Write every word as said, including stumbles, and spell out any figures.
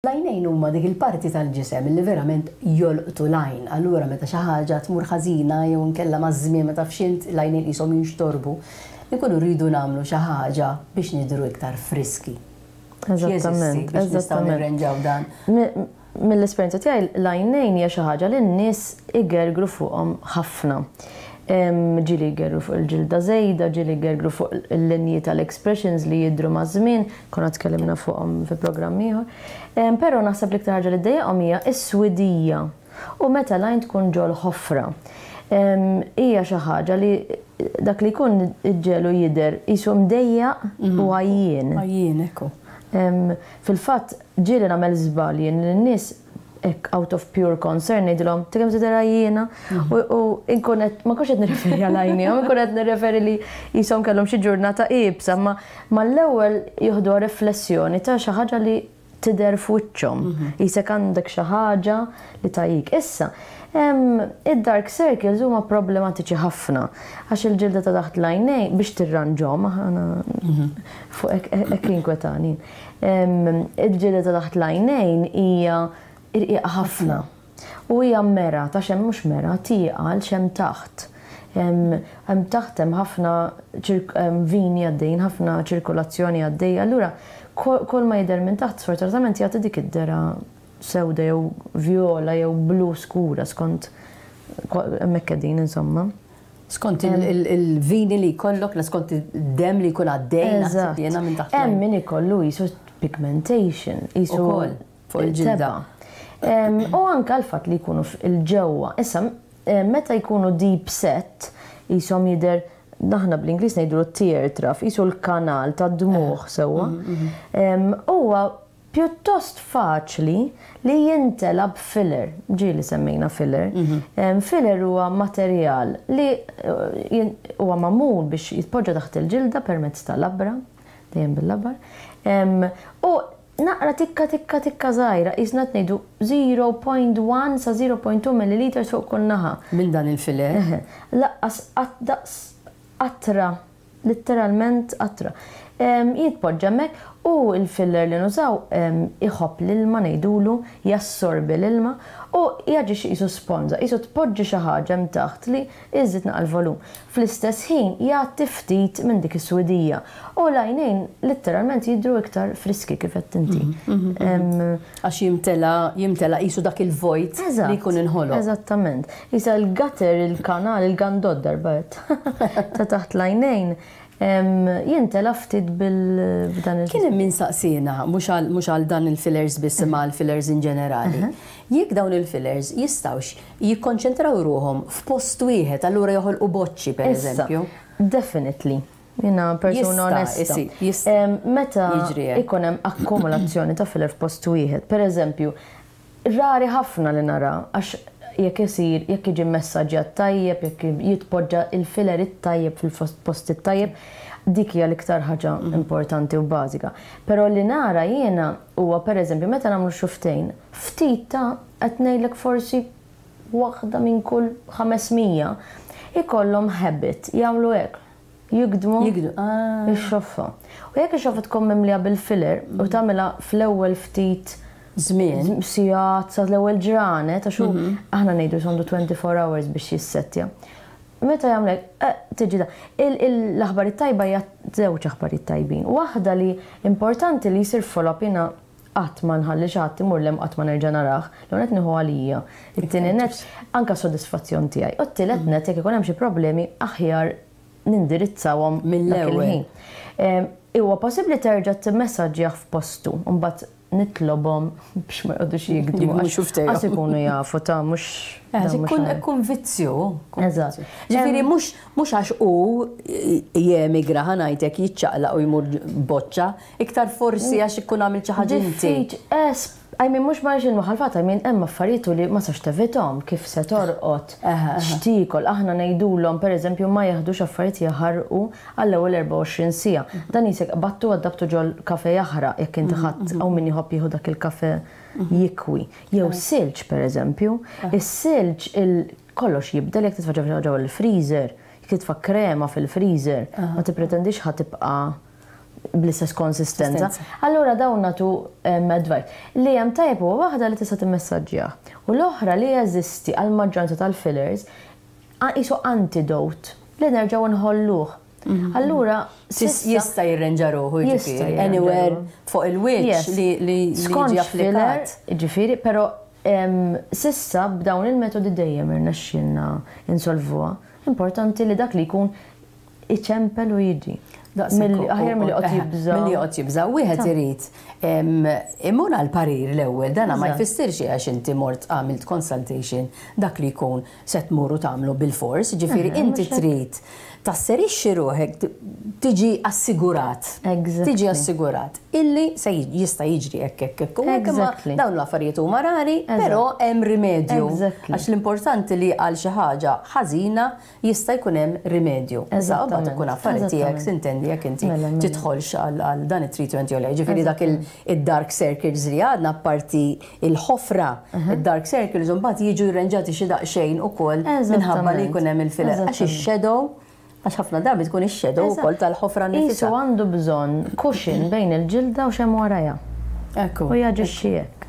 L-għajnejn huma dik il-parti tal-ġisem li verament jolqtu l-għajn. Allura meta xi ħaġa tmur ħażina jew inkella maż-żmien, meta fxint, l-għajnejn qishom jinxtorbu, nkunu rridu nagħmlu xi ħaġa biex nidru iktar friski. Eżattament. Biex nistgħu nirrenġaw dan. Mill-esperjenza tiegħi, l-għajnejn hija xi ħaġa li n-nies igergru fuqhom ħafna. Ġieli jgergru fuq il-ġilda żejda, ġieli jgergru fuq il-linji tal-expressions li jidru ma' żmien, konna tkellimna fuqhom fi programm ieħor. Però naħseb li iktar ħaġa li ddejjaqhom hija s-swidija. U meta l-għajn tkun ġol ħofra. Hija xi ħaġa li dak li jkun iġġegħlu jidher qisu mdejjaq u għajjien. Għajjien, ekku. Fil-fatt, ġieli nagħmel żball jien li n-nies hekk out of pure concern ngħidilhom, "Kemm tidher għajjiena?" U inkun qed ma kontx qed nirreferi għal għajnihom, inkun qed nirreferi li qishom kellhom xi ġurnata iebsa, ma mal-ewwel jieħdu riflessjoni ta' xi ħaġa li tidher f'wiċċhom. Qisek għandek xi ħaġa li tgħajjik. Issa, id-dark circles huma problematiċi ħafna għax il-ġilda ta' taħt l-għajnejn biex tirranġhom, aħna fuq hekk inkwetani. Il-ġilda ta' taħt l-għajnejn hija irqiqa ħafna. U hija mera, ta' xem mhux mera, tieqa għal x'hemm taħt. Hemm taħt hemm ħafna vini għaddejn, ħafna ċirkolazzjoni għaddej. Allura kull ma jidher minn taħt sfortunatament jagħti dik id-dehra sewda jew viola jew blu skura skont hemmhekk qegħdin, insomma. Skont il-vini li jkollok, skont id-dem li jkun għaddej, naħseb jiena, minn taħt. Hemm min ikollu qisu pigmentation, qisu Ukoll, fuq il-ġilda. U anka l-fatt li jkunu il-ġewwa. Issa, meta jkunu deep set, qishom jidher, aħna bl-Ingliż ngħidu tear trough, qisu l-kanal ta' dmuħ sewwa. Huwa pjuttost faċli li jintela b'filler. Ġieli semmejna filler. Filler huwa materjal li eh, huwa magħmul biex jitpoġġa taħt il-ġilda permezz tal-labra, dejjem bil-labar. U naqra tikka tikka tikka żgħira, qisna ngħidu zero punt wieħed sa zero punt tnejn milliliters fuq kull naħa. Minn dan il-filler? Lanqas daqs qatra, literalment qatra. Jitpoġġa hemmhekk u il-filler li nużaw iħobb l-ilma, ngħidulu, jassorbi l-ilma u jaġixxi qisu sponża, qisu tpoġġi xi ħaġa hemm taħt li iżid naqra l-volum. Fl-istess ħin jagħti ftit minn dik is-swidija. U l-għajnejn letteralment jidru iktar friski, kif qed inti. Mhm, mhm, mhm. Għax jimtela jimtela qisu dak il-vojt li jkun inħoloq. Eżattament. Issa il-gutter, il-kanal, il-gandod darbet ta' taħt l-għajnejn jintela ftit bil-dan il- Kien hemm min saqsina, mhux għal dan il-fillers biss imma għal fillers in ġenerali, jekk dawn il-fillers jistgħux jikkonċentraw ruhom f'post wieħed, allura joħolqu boċċi, per eżempju. Definitely. Jiena persuna onesta. Meta ikun hemm akkumulazzjoni ta' filler f'post wieħed, per eżempju, rari ħafna li nara, għax jekk isir, jekk jiġi messaġġjat tajjeb, jekk jitpoġġa il-filler it-tajjeb fil-post it-tajjeb, dik hija l-iktar ħaġa mhm. importanti u bażika. Però li nara jiena huwa, pereżempju, meta nagħmlu xufftejn, ftit ta' qed ngħidlek forsi waħda minn kull ħames mija ikollhom habit jagħmlu hekk. Jigdmu ah. ix-xoffa. U jekk ix-xoffa tkun mimlija bil-filler u tagħmilha fl-ewwel ftit żmien. Sigħat sa l-ewwel ġranet, għax mhm. aħna ngħidu sondu twenty-four hours biex jissettja. Meta jagħmlek, eh, tiġi da. L-aħbar it-tajba hija żewġ aħbarijiet tajbin. Waħda li importanti li jsir follow-up. Jiena qatt ma nħalli xi ħadd imur lem qatt ma nerġa' narah, l qed nieħu għalija. It-tieni net, anka sodisfazzjon tiegħi. U t-tielet net, jekk ikun hemm xi problemi, aħjar nindirizzawhom mill-ewwel. Ħin. Huwa possibbli terġa' timmessaġġjah f'postu, u mbagħad nitlobhom biex ma jqogħdux jigdmu. Għax ikunu jafu ta' mhux. Ikun ikun vizzju. Eżatt. Ġifieri mhux mhux għax hu jemigra, ħa ngħidlek, jiċċaqlaq u jmur boċċa, iktar forsi għax ikun għamil xi ħaġa inti. I mean, mhux ma rġin maħalfat, I mean, hemm affarijiet li ma sax tevitahom, kif se torqod, x'tiekol, aħna ngħidulhom, pereżempju, ma jaħdux affarijiet jaħarqu għall-ewwel erbgħa u għoxrin siegħa. Dan qisek battu għaddabtu ġol kafe jaħraq jekk inti ħadd hawn min jħobb jieħu dak il-kafe jikwi. Jew silġ, pereżempju, is-silġ il kollox jibdel jekk titfa' ġewwa il-freezer, jekk titfa' krema fil-freezer, ma tippretendix ħa tibqa' bl-istess konsistenza. Konsistenza. Allura dawn nagħtu em, advice. Li hemm tajjeb huwa waħda li tista' timmessaġġja. U l-oħra li jeżisti għal maġġoranza tal-fillers qisu antidote li nerġgħu nħolluh. Allura, Tis- s'issa- Jista' jirrenġa ruħu, Jista' jiġifieri, jirranġa anywhere ruħu. fuq il-wiċċ Yes. li li li Skont jiġi filler, applikat. ġifieri, pero em, s'issa b'dawn il-metodi dejjem irnexxielna insolvuha. Importanti li dak li jkun iċempel u jiġi. Daqshekk Aħjar milli qed jibża. Milli qed jibża. Wieħed irid em, imur għal parir l-ewwel, dana ma Eżatt. jfissirx għax inti mort għamilt consultation, dak li jkun se tmur u tagħmlu bil-fors, ġifieri Eħe, inti mhux hekk. trid tasserixxi ruħek, t- tiġi assigurat. Exactly. Tiġi assigurat illi se jiġ- jista' jiġri hekk hekk hekk u hekk, imma Exactly. dawn l-affarijiet huma rari, però hemm rimedju. Exactly. Għax l-importanti li għal xi ħaġa ħażina jista' jkun hemm rimedju. Issa mbagħad Eżattament. ikun affari tiegħek Eżattament. sintendi jekk inti Mela, mela. tidħolx għal għal dan it-treatment jew le. Ġifieri dak il-dark circles li għadna, parti il-ħofra, il-dark circles mbagħad jiġu jirrenġati xi daqsxejn ukoll minħabba li jkun hemm il-filler. Għax Eżattament. ix-shadow, għax ħafna drabi tkun ix-shadow ukoll tal-ħofra Qisu nifisha. għandu bżonn cushion bejn il-ġilda u x'hemm warajha. Ekku. U jaġixxi hekk.